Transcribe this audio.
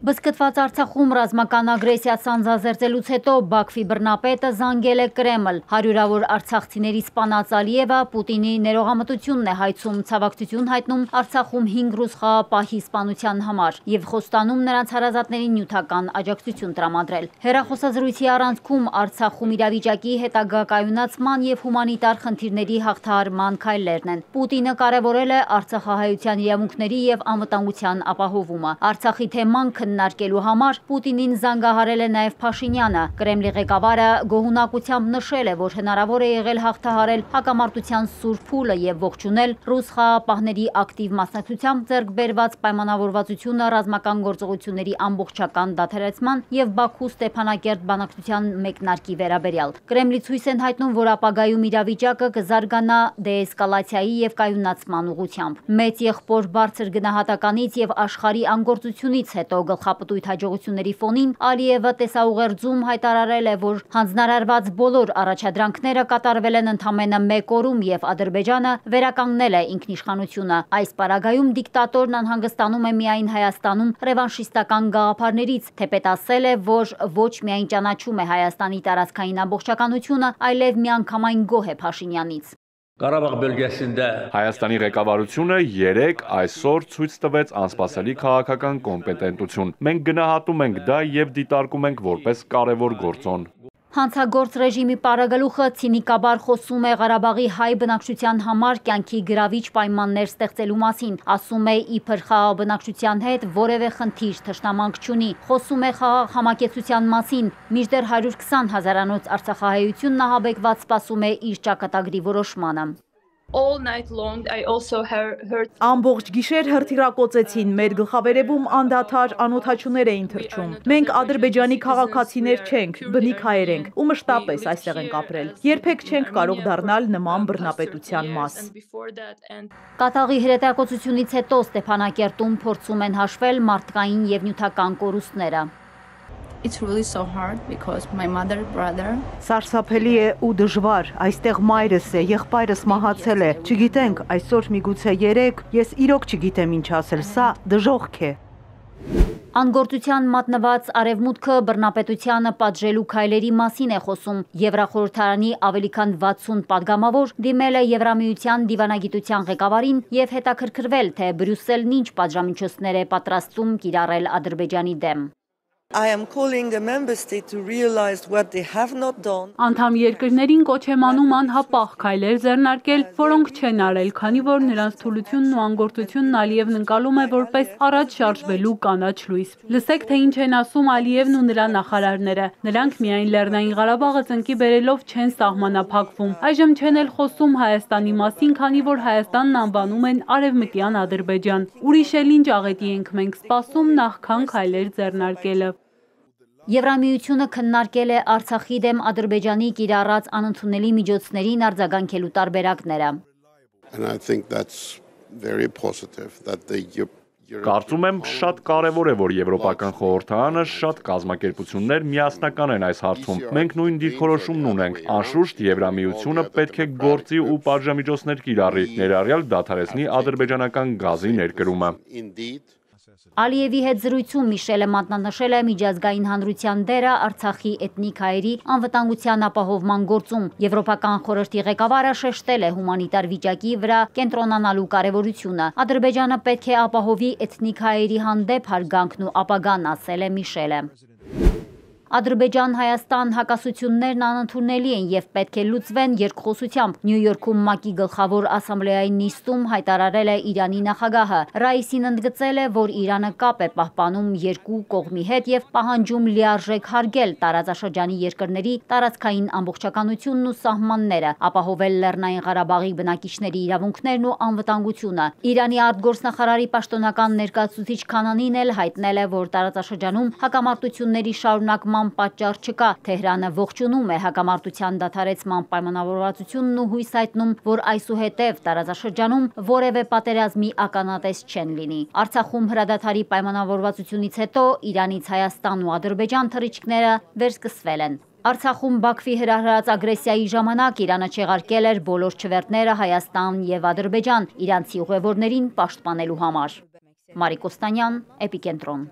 Բզկտված Արցախում ռազմական ագրեսիա սանձազերծելուց հետո Բաքվի բռնապետը զանգել է Կրեմլ։ Հարյուրավոր արցախցիների սպանած Ալիևը Պուտինի ներողամտությունն է հայցում, ցավակցություն հայտնում Արցախում 5 ռուս խաղապահի սպանության համար եւ խոստանում նրանց հարազատներին նյութական աջակցություն տրամադրել։ Հեռախոսազրույցի առանցքում Արցախում իրավիճակի հետագա կայունացման եւ հումանիտար խնդիրների հաղթահարման քայլերն են։ Պուտինը կարևորել է արցախահայության իրավունքների եւ անվտանգության ապահովումը։ Արցախի թեման քննարկելու համար Պուտինին զանգահարել է նաև Փաշինյանը։ Կրեմլի ղեկավարը գոհունակությամբ նշել է, որ հնարավոր է եղել հաղթահարել հակամարտության սուր փուլը եւ ողջունել ռուս խաղապահների ակտիվ մասնակցությամբ ձեռք բերված պայմանավորվածությունը ռազմական գործողությունների ամբողջական դադարեցման եւ Բաքու-Ստեփանակերտ բանակցության մեկնարկի վերաբերյալ։ Կրեմլի ցույց են հայտնում, որ ապագայում իրավիճակը կզարգանա դեէսկալացիայի եւ կայունացման ուղղությամբ։ Մեծ եղբոր բարձր գնահատականից եւ աշխարհի անգործությունից հետո գլխապտույտ հաջողությունների ֆոնին Ալիևը տեսաուղերձում հայտարարել է, որ հանձնարարված բոլոր առաջադրանքները կատարվել են ընդամենը 1 օրում եւ Ադրբեջանը վերականգնել է ինքնիշխանությունը։ Այս պարագայում դիկտատորն անհանգստանում է միայն Հայաստանում ռևանշիստական գաղափարներից, թեպետ ասել է, որ ոչ միայն ճանաչում է Հայաստանի տարածքային ամբողջականությունը, այլև միանգամայն գոհ է Փաշինյանից։ Ղարաբաղ բölgesində Հայաստանի ղեկավարությունը այսօր ցույց տվեց անսպասելի քաղաքական կոմպետենտություն։ Մենք գնահատում ենք դա եւ դիտարկում ենք որպես կարևոր գործոն։ Հանցագործ ռեժիմի պարագլուխը ցինիկաբար խոսում է Ղարաբաղի հայ բնակչության համար կյանքի գրավիչ պայմաններ ստեղծելու մասին, ասում է իբր խաղաղ բնակչության հետ որևէ խնդիր թշնամանք չունի, խոսում է խաղաղ համակեցության մասին, մինչդեռ 120 հազարանոց արցախահայությունն ահաբեկված սպասում է իր ճակատագրի որոշմանը։ Ամբողջ գիշեր հրթիռակոծեցին, մեր գլխավերևում անդադար անօդաչուներ էին թռչում։ Մենք Ադրբեջանի քաղաքացիներ չենք, բնիկ հայեր ենք ու մշտապես այստեղ ենք ապրել։ Երբեք չենք կարող դառնալ նման բռնապետության մաս։ Կատաղի հրետակոծությունից հետո Ստեփանակերտում փորձում են հաշվել մարդկային եւ նյութական կորուստները։ It's really so hard because my mother, brother. Սարսափելի է ու դժվար, այստեղ մայրս է, եղբայրս մահացել է, չգիտենք, այսօր միգուցե 3, ես իրոք չգիտեմ ինչ ասել, սա դժոխք է։ Անգործության մատնված արևմուտքը բռնապետությանը պատժելու քայլերի մասին է խոսում։ Եվրախորհրդարանի ավելի քան 60 падգամավոր դիմել է Եվրամիության դիվանագիտության ղեկավարին եւ հետաքրքրվել, թե Բրյուսելն ինչ պատժամիջոցներ է պատրաստում կիրառել Ադրբեջանի դեմ։ Անդամ երկրներին կոչ եմ անում անհապաղ քայլեր ձեռնարկել, որոնք չեն արել, քանի որ նրանց թուլությունն ու անգործությունն Ալիևն ընկալում է որպես առաջ շարժվելու կանաչ լույս։ Լսեք, թե ինչ են ասում Ալիևն ու նրա նախարարները։ Նրանք միայն Լեռնային Ղարաբաղը ծնկի բերելով չեն սահմանափակվում։ Այժմ չեն էլ խոսում Հայաստանի մասին, քանի որ Հայաստանն անվանում են Արևմտյան Ադրբեջան։ Ուրիշ էլ ինչ աղետի ենք մենք սպասում նախքան քայլեր ձեռնարկելը։ Եվրամիությունը քննարկել է Արցախի դեմ Ադրբեջանի կիրառած անընդունելի միջոցներին արձագանքելու տարբերակները։ Կարծում եմ շատ կարևոր է, որ Եվրոպական խորհրդարանը շատ կազմակերպություններ միասնական են այս հարցում։ Մենք նույն դիրքորոշումն ունենք։ Անշուշտ Եվրամիությունը պետք է գործի ու պատժամիջոցներ կիրառի, ներառյալ դադարեցնի ադրբեջանական գազի ներկրումը։ Ալիևի հետ զրույցում Միշելը մատնանշել է միջազգային հանրության դերը Արցախի էթնիկ հայերի անվտանգության ապահովման գործում։ Եվրոպական խորհրդի ղեկավարը շեշտել է հումանիտար վիճակի վրա կենտրոնանալու կարևորությունը։ Ադրբեջանը պետք է ապահովի էթնիկ հայերի հանդեպ հարգանքն ու ապագան, ասել է Միշելը։ Ադրբեջան-Հայաստան հակասություններն անընդունելի են եւ պետք է լուծվեն երկխոսությամբ։ Նյու Յորքում ՄԱԿ-ի գլխավոր ասամբլեայի նիստում հայտարարել է Իրանի նախագահը։ Ռայիսին ընդգծել է, որ Իրանը կապ է պահպանում երկու կողմի հետ եւ պահանջում լիարժեք հարգել տարածաշրջանի երկրների տարածքային ամբողջականությունն ու սահմանները, ապահովել Լեռնային Ղարաբաղի բնակիչների իրավունքներն ու անվտանգությունը։ Իրանի արտգործնախարարի պաշտոնական ներկայացուցիչ Քանանին էլ հայտնել է, որ տարածաշրջանում հակամարտությունների շարունակման պատճառ չկա։ Թեհրանը ողջունում է հակամարտության դադարեցման պայմանավորվածությունն ու հույս հայտնում, որ այսուհետև տարածաշրջանում որևէ պատերազմի ականատես չեն լինի։ Արցախում հրադադարի պայմանավորվածությունից հետո Իրանից Հայաստան ու Ադրբեջան թռիչքները վերսկսվել են։ Արցախում Բաքվի հրահրած ագրեսիայի ժամանակ Իրանը չեղարկել էր բոլոր չվերթները Հայաստան եւ Ադրբեջան իրանցի ուղևորներին պաշտպանելու համար։ Մարիկ Օստանյան, Էպիկենտրոն։